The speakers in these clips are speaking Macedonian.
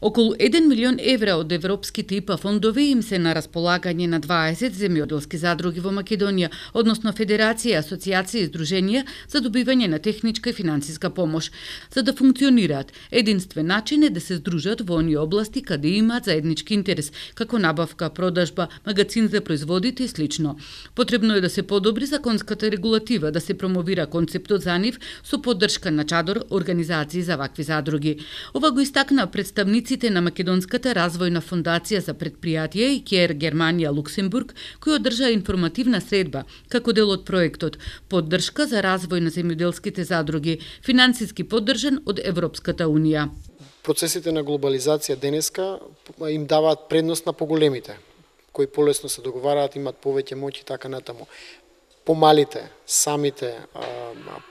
Околу 1 милион евра од европските ИПА фондови им се на располагање на 20 земјоделски задруги во Македонија, односно Федерација, Асоцијација и Здруженија за добивање на техничка и финансиска помош. За да функционираат, единствен начин е да се здружат во оние области каде имаат заеднички интерес, како набавка, продажба, магазин за производите и слично. Потребно е да се подобри законската регулатива, да се промовира концептот за нив со поддршка на чадор организации за вакви задруги. Ова го истакна представниците на Македонската развојна фондација за предпријатија и КЕР Германија Луксембург, кој одржа информативна средба како дел од проектот Поддршка за развој на земјоделските задруги, финансиски поддржан од Европската унија. Процесите на глобализација денеска им даваат предност на поголемите, кои полесно се договараат, имат повеќе моќ и така натаму. Помалите, самите,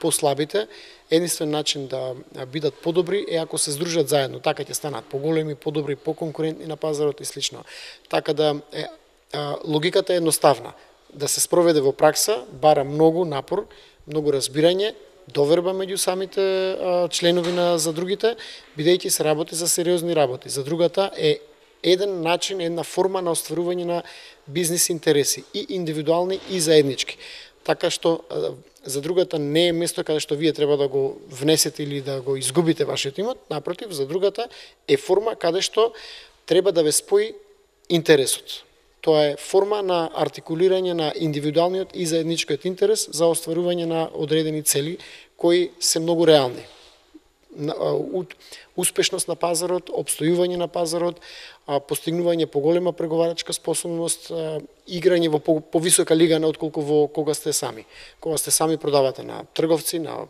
послабите, единствен начин да бидат подобри е ако се здружат заедно, така ќе станат поголеми, подобри, поконкурентни на пазарот и слично. Така да логиката е едноставна. Да се спроведе во пракса, бара многу напор, многу разбирање, доверба меѓу самите членови на задругите, бидејќи се работи за сериозни работи. Задругата е еден начин, една форма на остварување на бизнис интереси, и индивидуални и заеднички. Така што задругата не е место каде што вие треба да го внесете или да го изгубите вашиот имот, напротив, задругата е форма каде што треба да ве спои интересот. Тоа е форма на артикулирање на индивидуалниот и заедничкиот интерес за остварување на одредени цели кои се многу реални. Успешност на пазарот, обстојување на пазарот, постигнување поголема преговарачка способност, играње во повисока лига отколку во кога сте сами. Кога сте сами продавате на трговци, на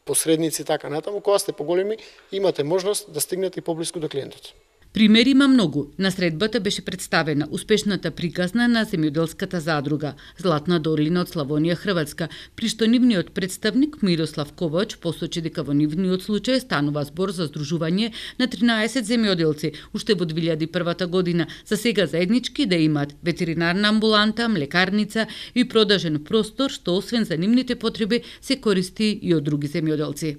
посредници, така натаму, кога сте поголеми, имате можност да стигнете и поблиску до клиентот. Примери има многу. На средбата беше представена успешната приказна на земјоделската задруга Златна Дорлина од Славонија, Хрватска, при што нивниот представник Мирослав Ковач посочи дека во нивниот случај станува збор за здружување на 13 земјоделци уште во 2001 година, за сега заеднички да имаат ветеринарна амбуланта, млекарница и продажен простор што освен за нивните потреби се користи и од други земјоделци.